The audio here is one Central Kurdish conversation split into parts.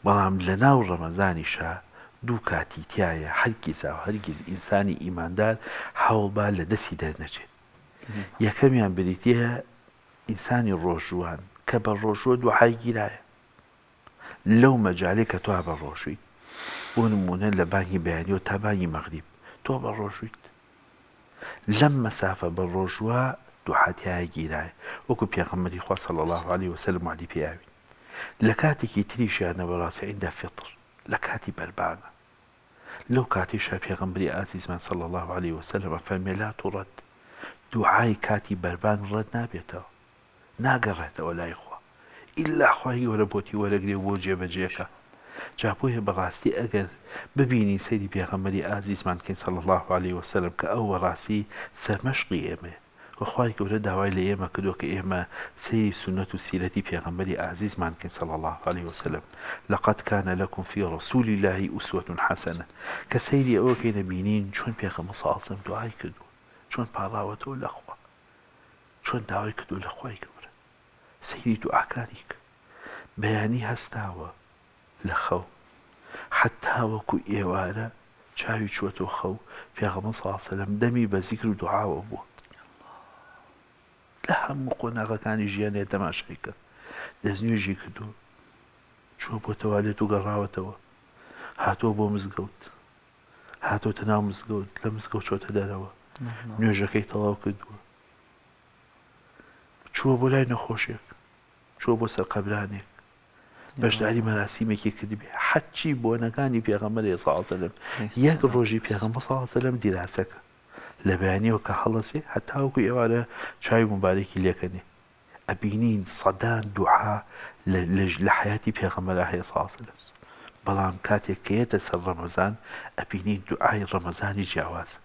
بەڵام لەناو ڕەمەزانیشا دوو کاتی تیایە هەرگیزاو هەرگیز ئینسانی ئیماندار هەوڵبا لە دەستی دەرنەچێت. یەکەمیان بریتیە ئینسانی ڕۆژووان کە بە ڕۆژووە دوعای گیرایە لەو مەجالەی کە تۆ بە ڕۆژوویت بۆ نموونە لە بانگی بەیانیەوە تا بانگی مەغریب تۆ بە ڕۆژوویت لەم مەسافە بە ڕۆژووە دوعا تیایە گیرایە وەکو پێغەمبەری خوا صلی اللە علیە وسلم وەعدی پێیاوین لە کاتێکی تریشیانە بەڕاستی عند فطر لە کاتی بەربانگە لەو کاتەیشا پێغەمبەری ئازیزمان صلی اللە علیە وسلم ئەفەرمێ لا ترد دوعای کاتی بەربانگ ڕەت نابێتەوە ناگەڕێتەوە لای خوا ئیلا خوای گەورە بۆتی وەرەگرێ و بۆ جێبەجێکا جا بۆیە بەڕاستی ئەگەر ببینین سەیری پێغەمبەری ئازیزمان کەین صلی اللە علیە وسلم کە ئەو بەڕاستی سەرمەشقی ئێمەیە وە خوای گەورە داوای لە ئێمە کردووە کە ئێمە سەیری سوننەت و سیرەتی پێغەمبەری ئازیزمان کەین صلی اللە علیە وسلم لقد کان لکم فی رسول اللە اسوە حسنە کە سەیری ئەوە کەین ئەبینین چۆن پێغەمبەر صلی اللە علیە وسلم دوعای کردووە چۆن پاڕاوەتەوە لە خوا چۆن داوای کردووە لە خوای گەورە سەیری دوعاکانی کە بەیانی هەستاوە لە خەو حەتا وەکو ئێوارە چاوی چووەتەوە خەو پێغەمبەر صلی اللە علیە وسلم دەمی بە زیکر و دوعاوە بووە لە هەموو قۆناغەکانی ژیانێ تەماشای کە دەستنوێژی کردووە چووە بۆ تەوالێت و گەڕاوەتەوە هاتووە بۆ مزگەوت هاتۆتە ناو مزگەوت لە مزگەوت چۆتە دەرەوە نوێژەکەی تەواو کردووە چووە بۆ لای نەخۆشێک چووە بۆ سەر قەبرانێک بەشداری مەراسیمێکی کردبێ حەچی بۆنەکانی پێغەمبەر صلی الله علیه وسلم یەک ڕۆژی پێغەمبەر صلی الله علیه وسلم دیراسەکە لە بەیانیەوە کە هەڵەسێ هەتاوەکو ئێوارە چاوی موبارەکی لێکەنێ ئەبینین سەدان دوعا لە حەیاتی پێغەمبەرا هەیە صلی اللە علیە وسلم بەڵام کاتێک کە یەتە سەر ڕەمەزان ئەبینین دوعای ڕەمەزانی جیاوازە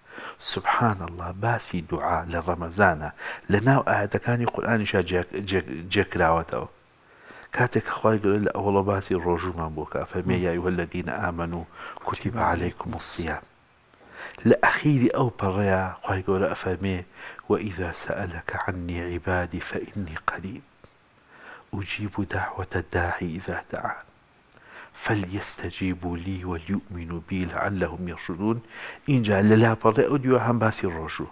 سبحان اللە باسی دوعا لە ڕەمەزانە لە ناو ئایەتەکانی قورئانیشا جێ کراوەتەوە کاتێک کە خوای گەورە لە ئەوەڵە باسی ڕۆژوومان بۆ کە فەرمێ یا ایها الذین آمنوا کتب علیکم الصیام لە ئەخیری ئەو پەڕەیا خوای گەورە ئەفەرمێ، وَإِذَا سَأَلَکَ عَنِّی عِبَادی فَإِنِّی قَرِیب أُجِیبُ دَعْوَةَ الدَّاعِ إِذَا دَعَانِ فَلْیَسْتَجِیبُوا لی وَلْیُؤْمِنُوا بی لَعَلَّهُمْ یَرْشُدُونَ ئینجا لە لاپەڕەی ئەو دیوە هەم باسی ڕۆژوو.